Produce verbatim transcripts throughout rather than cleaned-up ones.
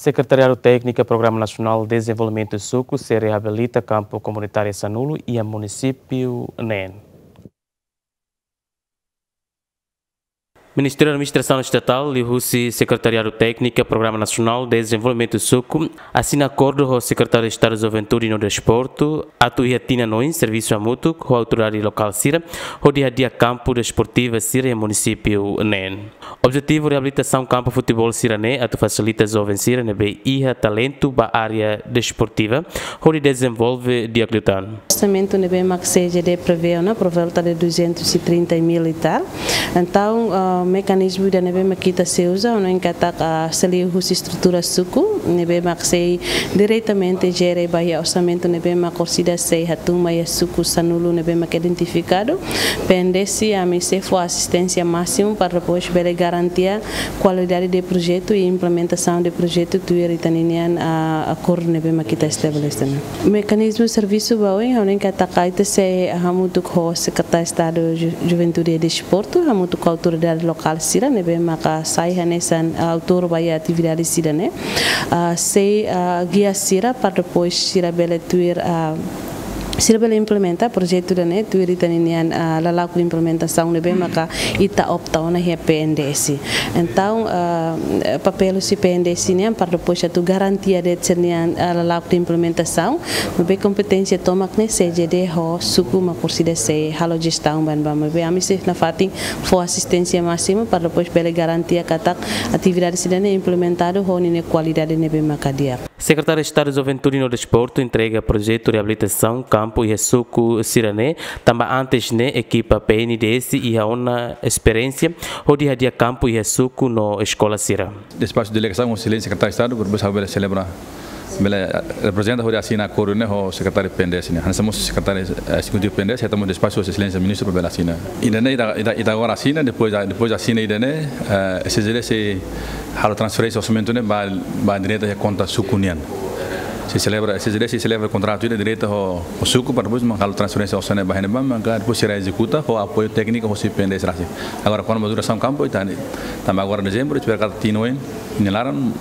Sekretariadu Tékniku Programa Nasionál Dezenvolvimentu Suku sei reabilita kampu komunitáriu sanulu iha munisípiu neen. Ministériu Administrasaun Estatál liuhusi Sekretariadu Tékniku Programa Nasionál Dezenvolvimentu Suku asina akordu ho Sekretáriu Estadu Juventude no Desportu atu iha tinan oin servisu hamutuk ho autoridade lokál sira hodi hadi'a kampu desportiva sira iha munisípiu neen. Objetivu reabilitasaun kampu futeból sira-ne'e atu fasilita joven sira ne'ebé iha talentu ba área desportiva hodi dezenvolve di'ak liután. Orsamentu ne'ebé mak C G D prevee ona por volta de duzentos e trinta mil e tal. Entaun, ah, mekanizmu ida ne'ebé mak ita sei uza, hanoin katak, ah, sei liuhusi estrutura suku, ne'ebé mak sei diretamente jere ba iha orsamentu ne'ebé mak orsida sei hatún mai iha suku sanulu ne'ebé mak identifikadu. P N D S, ami sei fó asisténsia másimu para depois bele garantia kualidade de projetu i implementasaun de projetu tuir ita-nia nian, ah, akordu ne'ebé mak ita estabelese ona. Mekanizmu servisu ba oin, hanoin katak ita sei hamutuk ho Sekretáriu Estadu Ju-, Juventude i Desportu, hamutuk ho autoridade lokál sira ne'ebé maka sai hanesan, ah, autór ba iha atividade sira-ne'e. Ah, sei, ah, gia sira para depois sira bele tuir, ah, sira bele implementa projetu ida-ne'e tuir ita-nia nian, ah, lala'ok implementasaun ne'ebé maka ita opta ona iha P N D S. Entaun, ah, papél husi P N D S nian para depois atu garantia de'it sira-nia, ah, lala'ok implementasaun, maibé kompeténsia tomak ne'e C G D ho suku mak orsida sei halo jestaun ba ne'ebá, maibé ami sei nafatin fó asisténsia másimu para depois bele garantia katak atividade sira-ne'e implementadu ho ninia kualidade ne'ebé maka di'ak. Sekretáriu Estadu Juventude no Desportu entrega projetu reabilitasaun kampu iha suku sira-ne'e, tanba antes ne'e ekipa P N D S iha ona esperiénsia hodi hadi'a kampu iha suku no eskola sira. Despaxu delegasaun ho Exelénsia Sekretáriu Estadu, para depois bele selebra, bele, eh, reprezenta hodi asina akordu ne'e ho Sekretáriu P N D S nian. Hanesan mós Sekretáriu, eh, Ezekutivu P N D S, hetan mós despaxu ho Exelénsia Ministru para bele asina. Ida-ne'e ita, ita, ita agora asina, depois, depois asina ida-ne'e, eh, C G D sei halo transferénsia orsamentu ne'e ba, ba direta iha konta suku nian. Sei selebra, C G D sei selebra kontratu ida direta ho, ho suku para depois mak halo transferénsia orsamentu ba iha ne'ebá, maka depois sira ezekuta ho apoiu tékniku husi P N D S rasik. Agora, kona-ba durasaun kampu, ita, tanba agora dezembru, espera katak tinan oin nia laran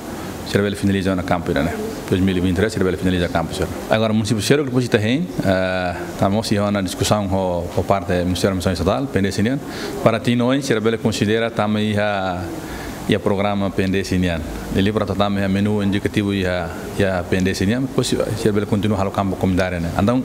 sira bele finaliza ona kampu ida-ne'e. Dois mil e vinte e três sira bele finaliza kampu sira. Agora munisípiu seluk depois ita hein, eh, tanba mós iha ona diskusaun ho, ho parte Ministériu Administrasaun Estatál, P N D S nian, para tinan oin sira bele konsidera tama iha, iha programa P N D S nian. Liuliu para tama iha menu indikativu iha, iha P N D S nian, depois sira bele kontinua halo kampu komunitáriu ne'e. Entaun,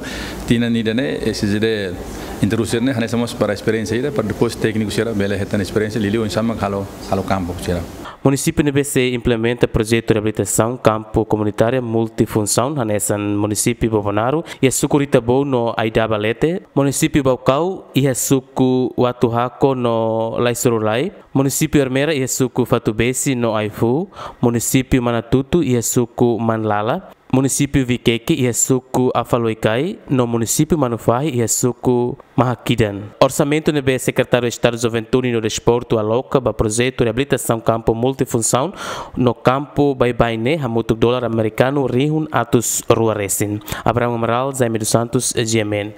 tinan ida-ne'e, eh, C G D introdús ne'e, hanesan mós para esperiénsia ida, para depois tékniku sira bele hetan esperiénsia, liuliu oinsá mak halo, halo kampu sira. Munisípiu ne'ebé sei implementa projetu reabilitasaun kampu komunitáriu multifunsaun hanesan munisípiu Bobonaro iha suku Ritabou no Aidaba Lete, munisípiu Baucau iha suku Watuhako no Laisurulai, munisípiu Ermera iha suku Fatubesi no Aifu, munisípiu Manatutu iha suku Manlala, munisípiu Viqueque iha suku Afaloicai, no munisípiu Manufahi iha suku Mahakidan. Orsamentu ne'ebé Sekretáriu Estadu Juventude no Desportu aloka ba projetu reabilitasaun kampu multifunsaun no kampu baibain ne'e hamutuk dolar amerikanu rihun atus rua resin. Abraham Amaral, Jaime dos Santos, G M N.